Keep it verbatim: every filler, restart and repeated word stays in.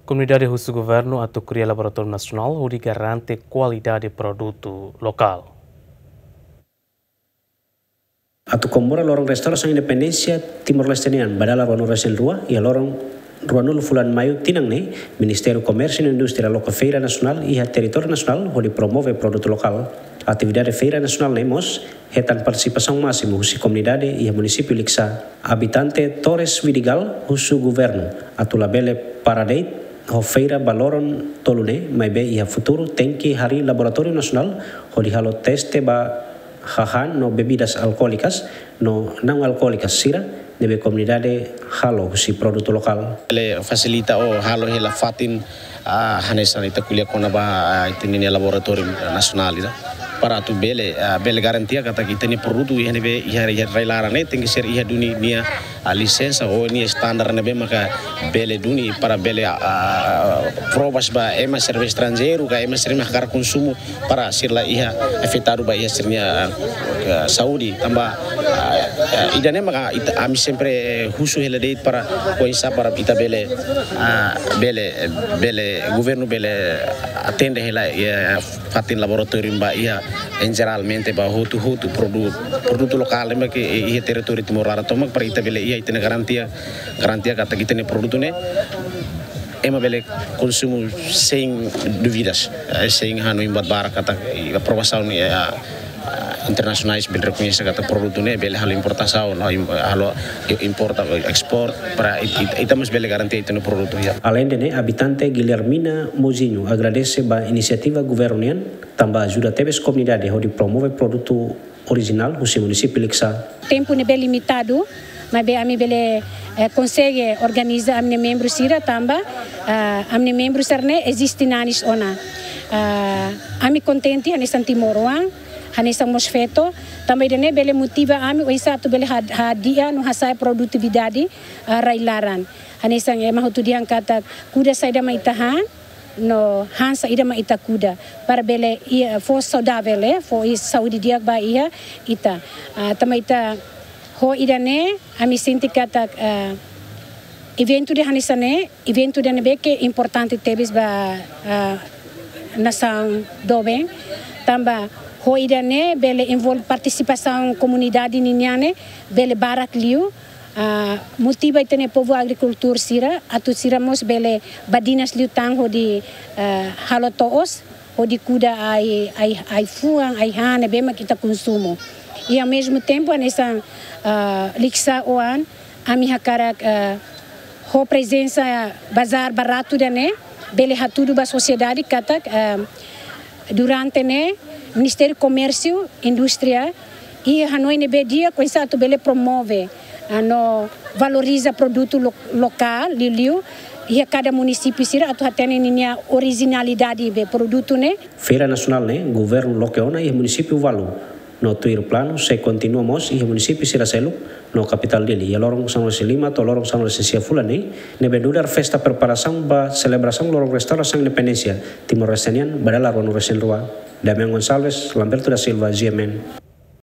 Komunidade husu governu atu kria laboratóriu nasionál hodi garante kualidade produtu lokál. Atu komemora loron restaurasaun independénsia Timor-Leste nian ba dala ruanulu-resin-rua, iha loron ruanulu fulan Maiu tinan ne'e, Ministériu Komérsiu no Indústria loke feira nasionál iha territóriu nasionál hodi promove produtu lokál. Atividade feira nasionál ne'e mós hetan partisipasaun másimu husi komunidade iha munisípiu Likisá. Abitante Torres Vidigal husu governu atu labele para de'it ho feira ba loron tolu ne'e, maibé iha futuru tenke harii laboratóriu nasionál hodi halo teste ba hahán no bebidas alkoólikas no naun-alkoólikas sira ne'ebé komunidade halo husi produtu lokál. Bele fasilita ou halo hela fatin, ah, hanesan ita ko'alia kona-ba, ah, ita-nia laboratóriu nasionál ida. Para atu bele, ah, bele garantia katak ita-nia produtu iha ne'ebé iha, iha rai-laran ne'e tenke ser iha duni nia, ah, lisensa ou nia standar ne'ebé maka bele duni para bele, ah, provas ba ema sira estranjeiru ka ema sira hakarak konsumu para sira la iha afetadu ba iha sira-nia, eh, saúde. Tanba, eh, eh, ida-ne'e maka ita, ami sempre, eh, husu hela de'it para oinsá para ita bele, ah, bele, bele, governu bele atende hela, eh, fatin laboratóriu ba iha, em geralmente ba hotu-hotu produ-, produtu lokál ne'ebé ke iha territóriu Timor laran tomak para ita bele iha ita-nia garantia, garantia katak ita-nia produtu ne'e ema bele konsumu sein dúvidas, eh, sein hanoin buat barak katak, eh, aprovasaun, eh, ah, ah, internasionais bele rekoñese katak produtu ne'e bele halo importasaun, no, im-, halo importa, ekspor, para it-, it-, ita mós bele garantia ita-nia produtu, ya. Aleinde ne'e, abitante Guilhermina Mozinho agradese ba inisiativa governu nian, tanba ajuda tebes komunidade hodi promove produtu orijinál husi munisípiu Likisá. Tempu ne'ebé limitadu, maibé ami bele, eh, konsege organiza ami-nia membru sira tanba, ah, ami-nia membru sira-ne'e eziste nanis ona. Ah, ami kontente hanesan timoroan, hanesan mós feto, tanba ida-ne'e bele motiva ami oinsá atu bele had-, hadi'a no hasa'e produtividade, ah, rai-laran. Hanesan ema hotu dehan katak kuda saida mak ita han, no han saida mak ita kuda. Para bele iha, fó saudavel, eh, fó iha saúde di'ak ba iha ita. Ah, tanba ita ho ida-ne'e, ami sente katak, ah, eventu ida hanesan ne'e, eventu ida ne'ebé ke importante tebes ba, ah, nasaun doben. Tanba ho ida-ne'e bele envolve partisipasaun komunidade ninian ne'e, bele barak liu, ah, motiva ita-nia povu agrikultór sira, atu sira mós bele badinas liután hodi, ah, halo to'os, hodi kuda ai, ai, ai-fuan, ai-han ne'ebé mak ita konsumu. I ao mesmo tempo, hanesan, ah, Likisá oan, ami hakarak, ah, ho prezensa bazár baratu ida-ne'e, bele hatudu ba sosiedade katak, ah, durante ne'e, Ministériu Komérsiu, Indústria, iha hanoin ne'ebé di'ak oinsá atu bele promove, ah, no valoriza produtu lo-, lokál, liuliu iha kada munisípiu sira atu hatene ninia orijinalidade be produtu ne'e. Feira nasionál ne'e governu loke ona iha munisípiu ualu, no tuir planu sei kontinua mós iha munisípiu sira seluk no kapitál Dili, iha loron sanulu-resin-lima to'o loron sanulu-resin-sia fulan ne'e, ne'ebé nu'udar festa preparasaun ba selebrasaun loron restaurasaun independénsia Timor-Leste nian ba dala ruanulu-resin-rua. Damian Gonçalves, Lamberto da Silva, G M N.